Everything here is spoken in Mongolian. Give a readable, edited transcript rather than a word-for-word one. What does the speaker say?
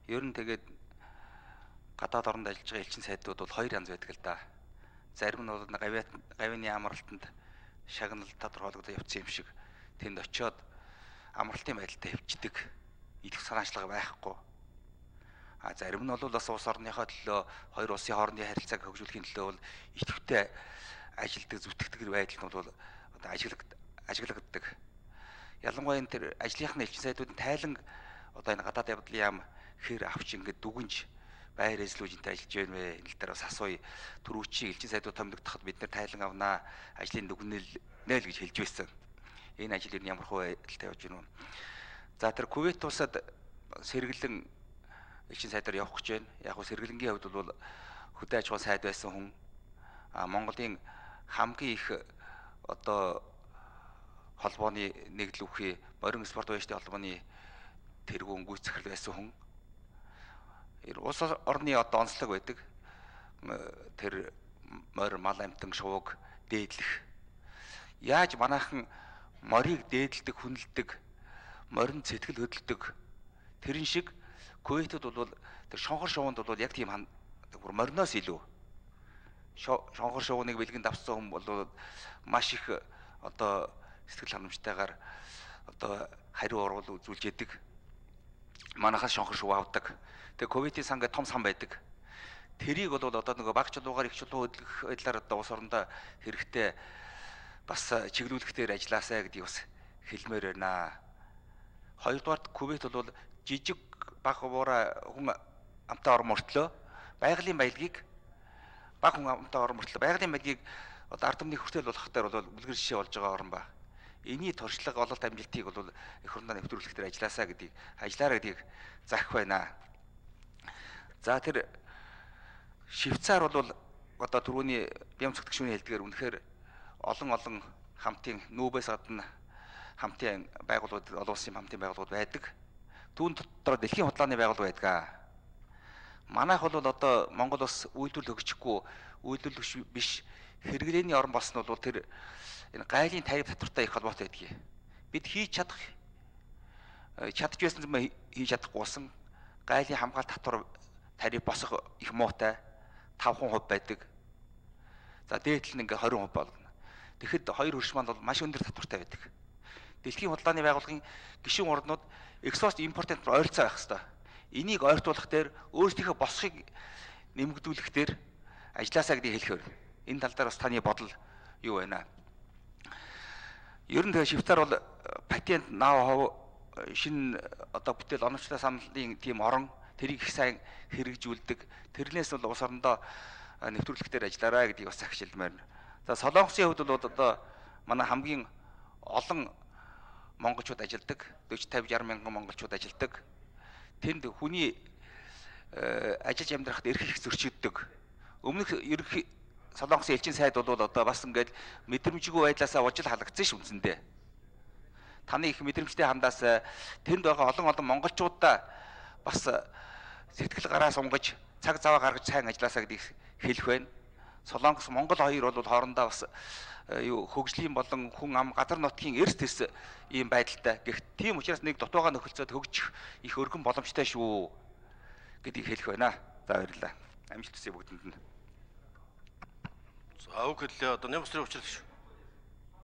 Ер нь тэгээд гадаад оронд ажиллаж байгаа элчин сайдууд бол хоёр янз байдаг л да. Зарим нь бол гавьяаны амралтанд шагналт тодорхойлогдож явцсан юм шиг тэнд очиод амралтын байдалтай хөвчдөг идэх санаачлага байхгүй. Зарим нь бол бас улс орныхоо төлөө хоёр улсын хоорондын харилцааг хөгжүүлэхийн төлөө бол идэвхтэй ажилдаг зүтгэдэг байдал нь бол одоо ажиглагддаг. Ялангуяа энэ тэр ажлынхны элчин сайдуудын тайлан одоо энэ гадаад явдлын яам хэр авч ингээд дүгнж байр эзлүүжинтэй ажиллаж байна вэ? Энэ л дээр бас асууя. Түрүүчийн элчин сайдууд томилогдоход бид нэр тайлан авнаа, ажлын дүгнэлнэ л гэж хэлж байсан. Энэ ажил ер нь ямар хөө байдалтай явж байна вэ? За тэр Кувейт улсад сэргэлэн элчин сайдаар явах гэж байна. Яг нь сэргэлэнгийн хувьд бол хөдөө аж ахуйн сайд байсан хүн Монголын хамгийн их одоо холбооны нэгдэл үхий морин спорт баячны холбооны тэргүүн гүйцэтгэл байсан хүн. Улс орны одоо онцлог байдаг. Тэр морь мал амтан шувууг дээдлэх. Яаж манайхан морийг дээдэлдэг, хүнэлдэг, морин сэтгэл хөдөлдөг. Тэрэн шиг Кувейтэд бол тэр шонхор шувуунд бол яг тийм мориноос илүү шонхор шувууныг бэлгэнд авсан хүн бол маш их одоо сэтгэл ханамжтайгаар одоо хариу урвал үзүүлж яадаг. Манайхаас шонхор шувуу авдаг. Тэгээ Кувейтийн сан гэдэг том сан байдаг. Тэрийг бол одоо нөгөө баг чулуугаар их чулуу хөдлөх байдлаар одоо улс орондоо хэрэгтэй бас чиглүүлэхтэр ажилласаа гэдгийг бас хэлмээр байна. Хоёрдугаар Кувейт бол жижиг баг буура хүн амтаа орон мөртлөө байгалийн баялагийг баг хүн амтаа орон мөртлөө байгалийн баялагийг одоо ард түмний хүртэл болох дээр бол үлгэр жишээ болж байгаа орн ба. Эний туршлага ололт амжилтыг бол эх орондоо нэвтрүүлэх дээр ажилласаа гэдгийг ажиллаараа гэдгийг заах байна. За тэр Швейцар бол одоо түрүүний бям цогтгшүүний хэлдгээр үнэхээр олон хамтын нүүбээс гадна хамтын байгууллагууд олон улсын хамтын байгууллагууд байдаг. Түүн дотор дэлхийн худлааны байгууллага байдаг. Манайх бол одоо Монгол бас үйлдвэрлэл хөгжихгүй, үйлдвэрлэл биш хэрэглээний орн болсон бол тэр энэ гайлын тариф татвартай их холбоотой байдаг. Бид хийж чадж байсан юм хийж чадахгүй болсон гайлын хамгаалалт татвар тариф босох их муутай 5% байдаг. За дээдл нь ингээ 20% болгоно. Тэгэхэд хоёр хөрш маань бол маш өндөр татвартай байдаг. Дэлхийн худлааны байгууллагын гишүүн орнууд экспорт импортын ойролцоо байх хэрэгтэй. Энийг ойртуулах дээр өөрсдийнхөө босхийг нэмэгдүүлэх дээр ажилласаа гэдгийг хэлэх байна. Энэ тал дээр бас таны бодол юу байна? Ер нь тэгээ Швейцар бол патент нав шинэ одоо бүтээл оновчтой саналын тийм орон тэрийг их сайн хэрэгжүүлдэг. Тэрнээс бол улс орондоо нэвтрүүлэх дээр ажиллаарай гэдгийг бас захишилмаар. За Солонгосын хувьд бол одоо манай хамгийн олон монголчууд ажилдаг. 40-50-60 мянган монголчууд ажилдаг. Тэнд хүний ажиллаж амьдрахад эрх их зөрчигддөг. Өмнөх ерөнхий Солонгосын элчин сайд бол одоо бас ингээд мэдрэмжгүй байдлаасаа ужил халагдсан ш үндсэндээ. Таны их мэдрэмжтэй хандаас тэнд байгаа олон монголчуудаа бас сэтгэл гараа сунгаж цаг заваа гаргаж сайн ажилласаа гэдгийг хэлэх байна. Солонгос Монгол хоёр бол хоорондоо бас хөгжлийн болон хүн ам газар нутгийн эрс тэрс ийм байдалтай. Гэхдээ тийм учраас нэг дутуугаа нөхөлцөөд хөгжих их өргөн боломжтой шүү гэдгийг хэлэх байна. За баярлалаа. Амжилт хүсье бүгдэнд нь. За үг хэллээ. Одоо нэм усрын учрал шүү.